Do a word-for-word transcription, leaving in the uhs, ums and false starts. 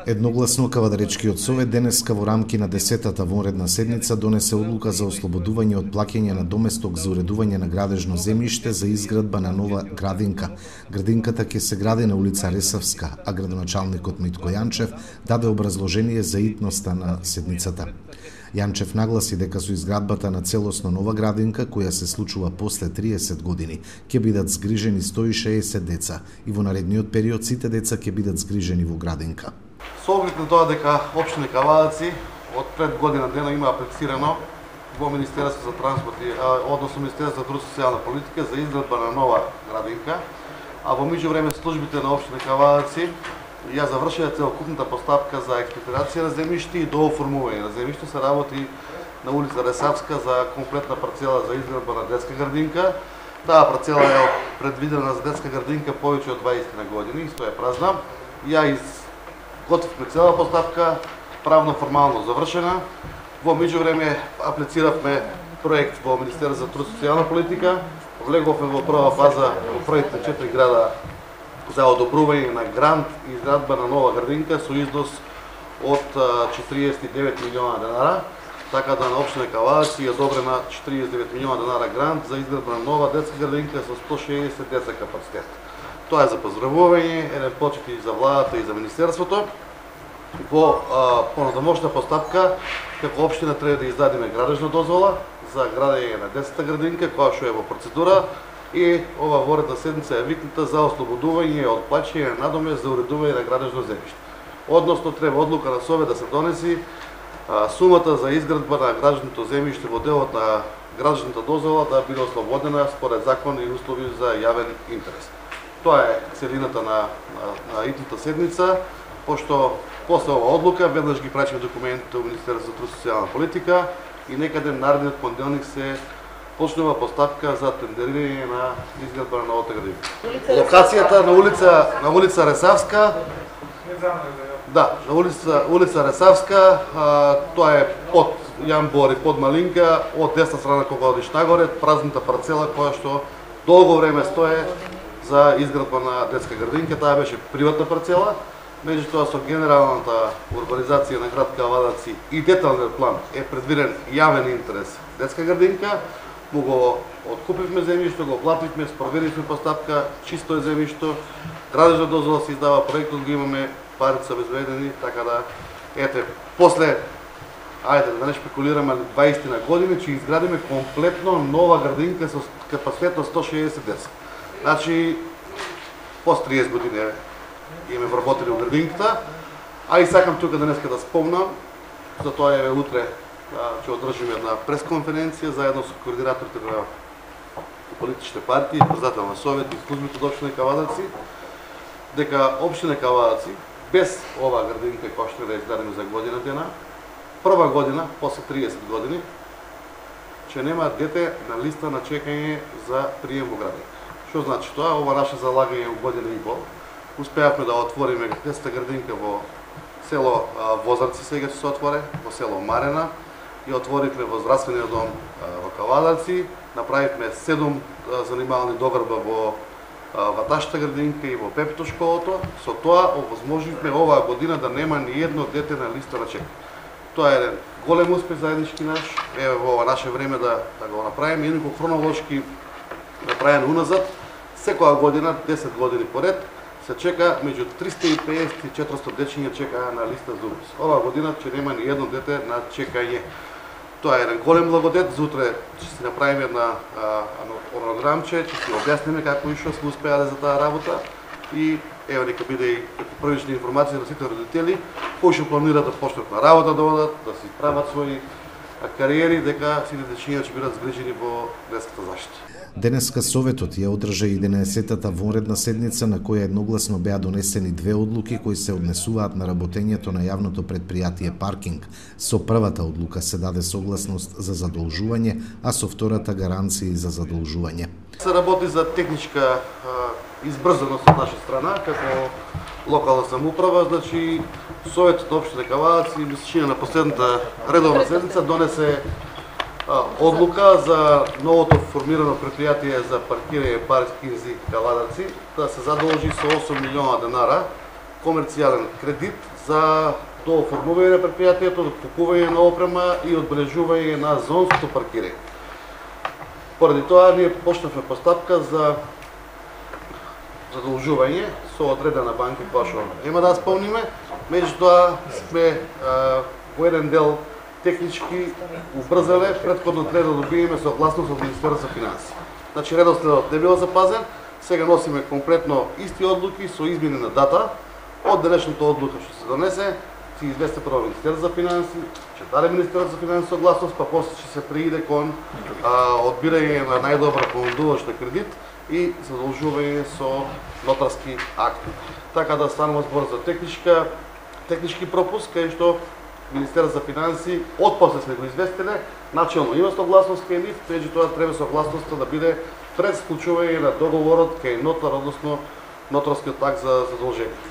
Едногласно Кавадаречкиот совет денеска во рамки на десетата вонредна седница донесе одлука за ослободување од плаќање на доместок за уредување на градежно земјиште за изградба на нова градинка. Градинката ќе се гради на улица Ресавска, а градоначалникот Митко Јанчев даде образложение за итноста на седницата. Јанчев нагласи дека со изградбата на целосно нова градинка, која се случува после триесет години, ќе бидат згрижени сто и шеесет деца и во наредниот период сите деца ќе бидат згрижени во градинка. Со оглед на тоа дека општина Кавадаци од пред година дена има аплицирано во Министерство за транспорт и односно Министерство за труд и социјална политика за изградба на нова градинка, а во меѓувреме службите на општина Кавадаци ја завршија целокупната постапка за експроприација на земјиште и дооформување на земјиште. Се работи на улица Ресавска за комплетна парцела за изградба на детска градинка. Таа парцела е предвидена за детска градинка повеќе од дваесет години и стоја празна. Ја изготвивме цела постапка, правно формално завршена. Во меѓувреме аплициравме проект во Министерство за труд и социјална политика. Влеговме во прва фаза во првите четири града за одобрување на грант и изградба на нова градинка со износ од четириесет и девет милиона денара, така да на општина Кавадаци е одобрена четириесет и девет милиона денара грант за изградба на нова детска градинка со сто и шеесет деца капацитет. Тоа е за поздравување, еден почит и за владата и за министерството. Во понатамошна постапка, како општина треба да издадиме градежна дозвола за градење на детската градинка, која што е во процедура. И ова воредна седница е викната за ослободување од плаќање на надомест за уредување на градежно земјиште. Односно, треба одлука на совет да се донеси а, сумата за изградба на градежното земјиште во делот на градежната дозвола да биде ослободена според закон и услови за јавен интерес. Тоа е целината на, на, на итната седница, пошто после ова одлука веднаш ги прачиме документите во Министерство за труд и социјална политика и некаде наредниот понеделник се почнува постапка за тендерирање на изградба на новата градинка. Локацијата на улица на улица Ресавска. Да, на улица улица Ресавска, а, тоа е под Јан Бори, под Малинка, од десна страна кога одиш нагоре, празната парцела која што долго време стое за изградба на детска градинка. Таа беше приватна парцела. Меѓутоа со генералната урбанизација на град Кавадаци и деталниот план е предвиден јавен интерес детска градинка. Му го откупивме земјишто, го плативме, спроведивме постапка, чисто е земјишто, градежна дозвола се издава, проектот го имаме, парите се обезбедени, така да, ете, после, ајде да не шпекулираме, дваесет години, че изградиме комплетно нова градинка со капацитет на сто и шеесет деца. Значи, после триесет години имаме вработени во градинката, а и сакам тука денеска да спомнам, за тоа е утре ќе одржиме една пресконференција заедно со координаторите на политичните партии, председател на совет и службите од општина Кавадаци, дека општина Кавадаци без ова градинка која што да изградиме за година дена, прва година после триесет години ќе нема дете на листа на чекање за прием во градинка. Што значи тоа? Ова наше залагање во година и пол. Успеавме да отвориме детската градинка во село Возарци, сега ќе се отворе, во село Марена, и отворивме во здравствениот дом во Кавадаци, направивме седум занимални догрба во Ваташта градинка и во Пепито школото. Со тоа овозможивме оваа година да нема ни едно дете на листа на чекање. Тоа е еден голем успех заеднички наш, еве во ова наше време да, да го направиме, инаку хронолошки направен уназад, секоја година, десет години поред, се чека меѓу триста и песет и четиристотини дечиња чекаа на листа за упис. Оваа година ќе нема ни едно дете на чекање. Тоа е еден голем благодет. Зутре ќе си направиме една онограмче, ќе си објасниме како и што сме успеале за таа работа и ево нека биде и првична информација на сите родители кои што планираат да почнат на работа да одат, да си прават своји кариери, дека сите дечиња ќе бидат згрижени во детската заштита. Денеска Советот ја одржа единаесеттата вонредна седница на која едногласно беа донесени две одлуки кои се однесуваат на работењето на јавното предпријатие Паркинг. Со првата одлука се даде согласност за задолжување, а со втората гаранции за задолжување. Се работи за техничка избрзаност од наша страна, како локална самоуправа, значи Советот на општина Кавадаци, мисличина на последната редовна седница, донесе одлука за новото формирано предпријатие за паркирање Паркинзи Кавадаци да се задолжи со осум милиона денара комерцијален кредит за дооформување на предпријатието, купување на опрема и одбележување на зонското паркирање. Поради тоа ние почнавме постапка за задолжување со одредена банка која што нема да исполниме, меѓутоа сме а, во еден дел технички убрзале, претходно треба да добиеме согласност од Министерството за финансии. Значи редоследот не бил запазен, сега носиме комплетно исти одлуки со измени на дата. Од денешната одлука што се донесе, се извести прво Министерството за финансии, ќе даде Министерството за финансии согласност, па после ќе се прииде кон а, одбирање на најдобра понудувач на кредит и задолжување со нотарски акт. Така да станува збор за техничка, технички пропуск, кај што Министерството за финансии отпосле сме го известиле, начелно има согласност кај нив, меѓутоа треба согласноста да биде пред склучување на договорот кај нотар, односно нотарскиот акт за задолжение.